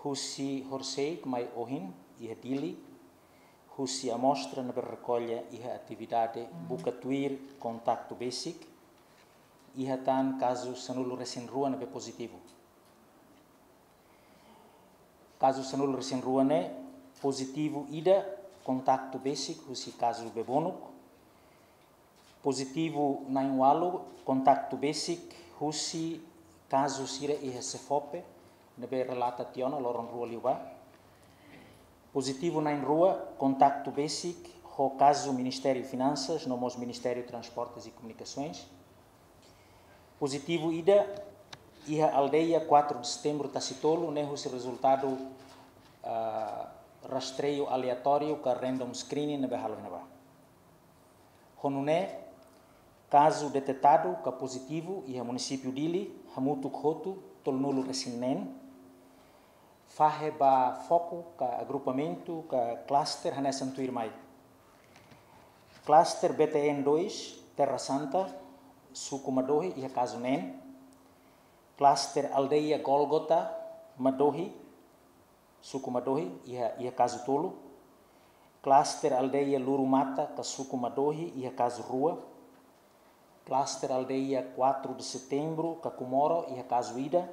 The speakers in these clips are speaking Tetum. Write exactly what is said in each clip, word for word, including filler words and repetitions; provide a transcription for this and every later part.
Husi horisehik mai ohin iha Dili, husi amostra ne'ebé rekolla iha atividade buka tuir kontaktu besik, iha tan kazu sanulu-resin-rua ne'ebé pozitivu. Kazu sanulu-resin-rua ne'e pozitivu ida kontaktu besik husi kazu Bebonuk, pozitivu na'in-ualu kontaktu besik husi kazu sira iha SEFOPE ne'ebé relata tiha ona loron rua liubá. Pozitivu na'in-rua kontaktu besik ho kazu Ministériu Finansas no mós Ministériu Transportes e Comunicações. Pozitivu ida iha aldeia quatro de Setembro Tasitolu ne'e husi rezultadu, ah, rastreiu aleatóriu ka random screening ne'ebé halo iha ne'ebá. Ho nune'e, kazu detetadu ka pozitivu iha munisípiu Dili hamutuk hotu tolunulu-resin-neen. Fahe ba foku ka agrupamentu ka klaster hanesan tuirmai. Klaster B T N dois, Terra Santa, suku Madohi, iha kazu neen. Klaster aldeia Gólgota, Madohi, suku Madohi, iha, iha kazu tolu. Klaster aldeia Lurumata ka suku Madohi, iha kazu rua. Klaster aldeia quatro de Setembro ka Comoro, iha kazu ida.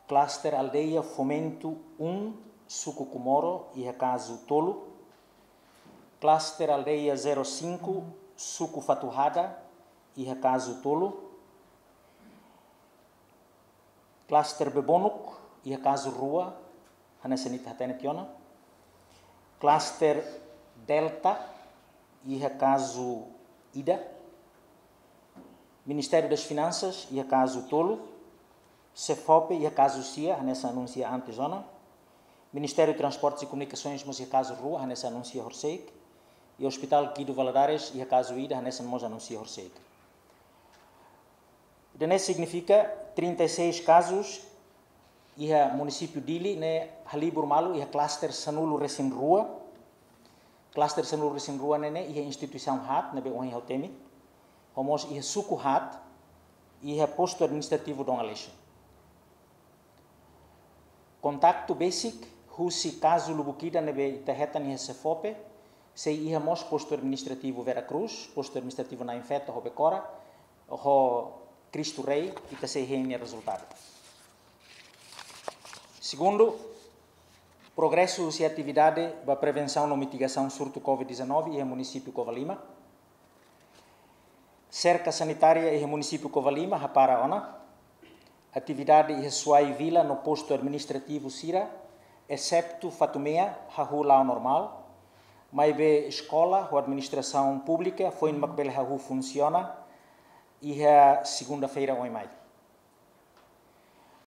Klaster aldeia Fomento um, suku Comoro, iha kazu tolu. Klaster aldeia zero cinco, suku Fatuhada, iha kazu tolu. Klaster Bebonuk, iha kazu rua, hanesan ita hatene tiha ona. Klaster Delta, iha kazu ida. Ministériu das Finansas, iha kazu tolu. SEFOPE, iha kazu sia, hanesan anunsia antes ona. Ministériu Transportes e Comunicações mós iha kazu rua, hanesan anunsia horisehik. I Hospital Guido Valadares, iha kazu ida, hanesan mós anunsia horisehik. Ida-ne'e signifika trinta e seis kazus iha munisípiu Dili ne'e halibur malu iha klaster sanulu-resin-rua. Klaster sanulu-resin-rua ne'e, ne'e iha instituisaun haat ne'ebé ohin ha'u temi. Ho mós iha suku haat, iha postu administrativu Dom Aleixo. Kontaktu besik husi kazu lubuk ida ne'ebé ita hetan iha SEFOPE, sei iha mós postu administrativu Vera Cruz, postu administrativu Na'in Feto ho Becora, ho Cristo Rei, ita sei hein nia rezultadu. Segundu, progresu husi atividade ba prevensaun no mitigasaun surtu COVID dezanove iha munisípiu Covalima. Serka sanitária iha munisípiu Covalima hapara ona. Atividade iha Suai Vila no postu administrativu sira, exetu Fatumea, hahú la'o normál. Maibé eskola ho administrasaun públika foin mak bele hahú funsiona iha segunda-feira oin mai.